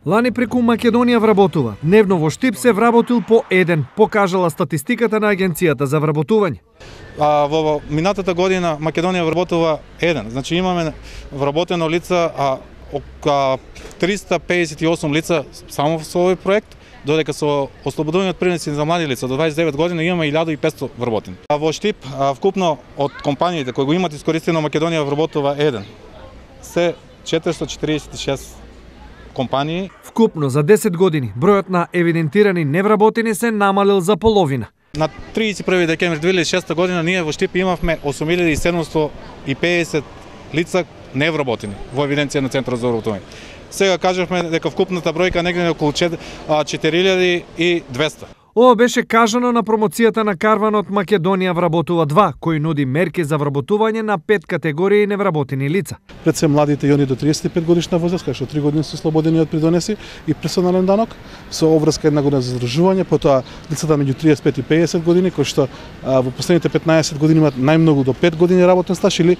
Лани преку Македонија вработува. Дневно во Штип се вработил по еден, покажала статистиката на Агенцијата за вработување. Во минатата година Македонија вработува еден. Значи имаме вработено лица 358 лица само со овој проект, додека со ослободување од принуди за млади лица до 29 години имаме 1500 вработени. Во Штип вкупно од компаниите кои го имат искористено Македонија вработува еден. Се 446 компании. Вкупно за 10 години бројот на евидентирани невработени се намалил за половина. На 31 декември 2006 година ние во Штип имавме 8750 лица невработени во евиденција на Центарот за вработување. Сега кажавме дека вкупната бројка негде околу 4200. Ова беше кажано на промоцијата на карванот Македонија вработува 2, кој нуди мерки за вработување на 5 категории невработени лица. Пред се младите и они до 35 годишна возраст, кај што 3 години се слободени од придонеси и персонален данок, со обврска 1 година за задржување, потоа лицата меѓу 35 и 50 години, кои што во последните 15 години имаат најмногу до 5 години работен стаж или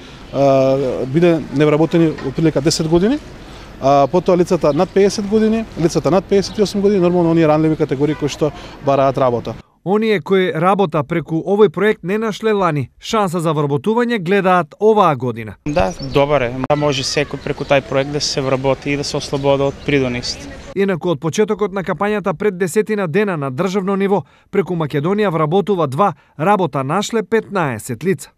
биде невработени отприлика 10 години. Потоа лицата над 50 години, лицата над 58 години, нормално оние ранливи категории кои што бараат работа. Оние кои работа преку овој проект не нашле лани, шанса за вработување гледаат оваа година. Да, добар е. Може секој преку тај проект да се вработи и да се ослободи од придонист. Инаку од почетокот на кампањата пред 10 дена на државно ниво, преку Македонија вработува 2, работа нашле 15 лица.